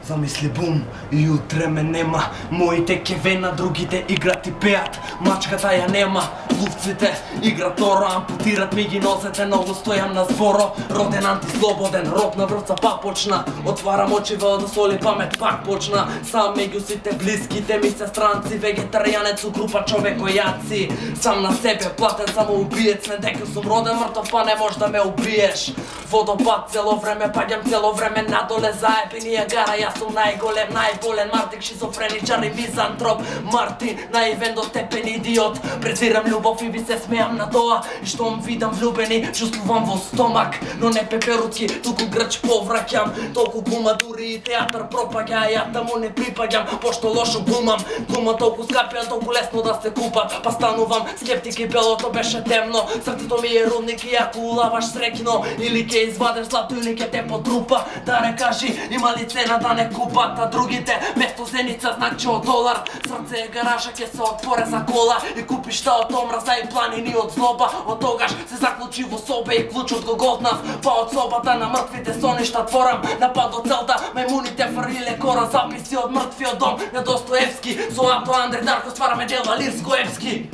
Замисли бум, и утре ме нема. Моите кевена, другите играт и пеат. Мачката ја нема, лувците играт торо. Ампутират ми ги носете, ново стојам на зборо. Роден антислободен, рок на врвца пак почна. Отварам очи да соли памет пак почна. Сам меѓу сите блиските ми се странци. Вегетаријанец у група човекојаци. Сам на себе платен самоубиец. Не дека сум роден мртов, па не можеш да ме убиеш. Водопад цело време, паѓам цело време надоле. Заебинија гара, јас сум најголем, најболен Мартин, шизофреничар и мизантроп. Мартин, наивен до степен идиот. Презирам љубов и ви се смеам на тоа. И штом видам влюбени, чувствувам во стомак. Но не пеперуцки, туку грч повраќам. Толку гума дури и театар пропаѓа, а ја таму не припаѓам, пошто лошо глумам. Глума толку скапија, толку лесно да се купат. Па станувам скептик и белото беше темно. Срцето ми е рудник и ако улаваш среќно, или ке извадеш злато или ке те потрупа. Да не кажи, има ли цена да не купат, а другите место зеница значи од долар. Срце е гаража, ке се отворе за кола и купиш та од омраза и планини од злоба. Од тогаш се заклучи во собе и клучот го годнав, па од собата на мртвите соништа творам. Напад од целта, мајмуните фрлиле кора, записи од мртвиот дом на Достоевски. Со Ато Андре Дарко ствараме дела Лирско-Евски.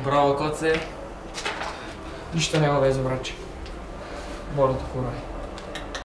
Браво, коце. Ништо нема везе, браче. Борото фурај.